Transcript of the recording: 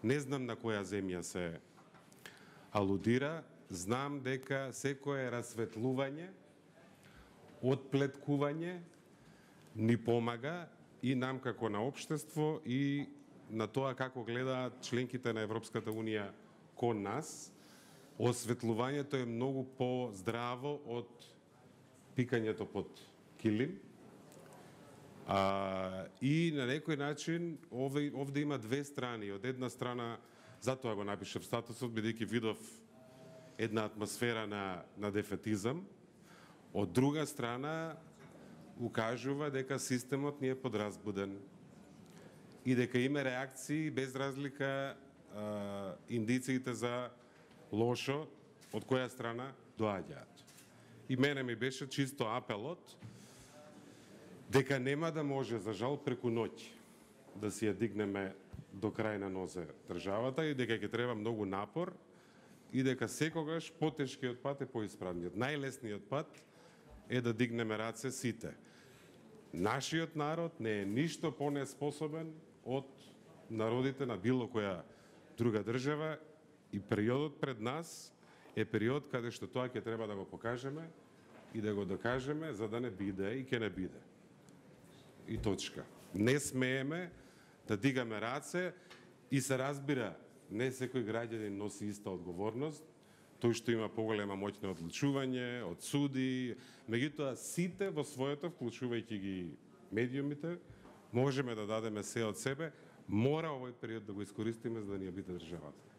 Не знам на која земја се алудира, знам дека секое расветлување, отплеткување ни помага и нам како на општество и на тоа како гледаат членките на Европската Унија кон нас. Осветлувањето е многу по-здраво од пикањето под килим. И на некој начин овде има две страни. Од една страна, затоа го напишав статусот, бидејќи видов една атмосфера на дефетизам. Од друга страна, укажува дека системот ни е подразбуден и дека има реакции без разлика индициите за лошо од која страна доаѓаат. И мене ми беше чисто апелот дека нема да може, за жал, преку ноќ да си ја дигнеме до крај на нозе државата и дека ќе треба многу напор и дека секогаш потешкиот пат е поисправниот. Најлесниот пат е да дигнеме раце сите. Нашиот народ не е ништо понеспособен од народите на било која друга држава и периодот пред нас е период каде што тоа ќе треба да го покажеме и да го докажеме за да не биде и ќе не биде. И точка. Не смееме да дигаме раце и се разбира, не секој граѓанин носи иста одговорност, тој што има поголема моќ на одлучување, од суди, меѓутоа сите во своето, вклучувајќи ги медиумите, можеме да дадеме се од себе, мора овој период да го искористиме за да ни ја биде државата.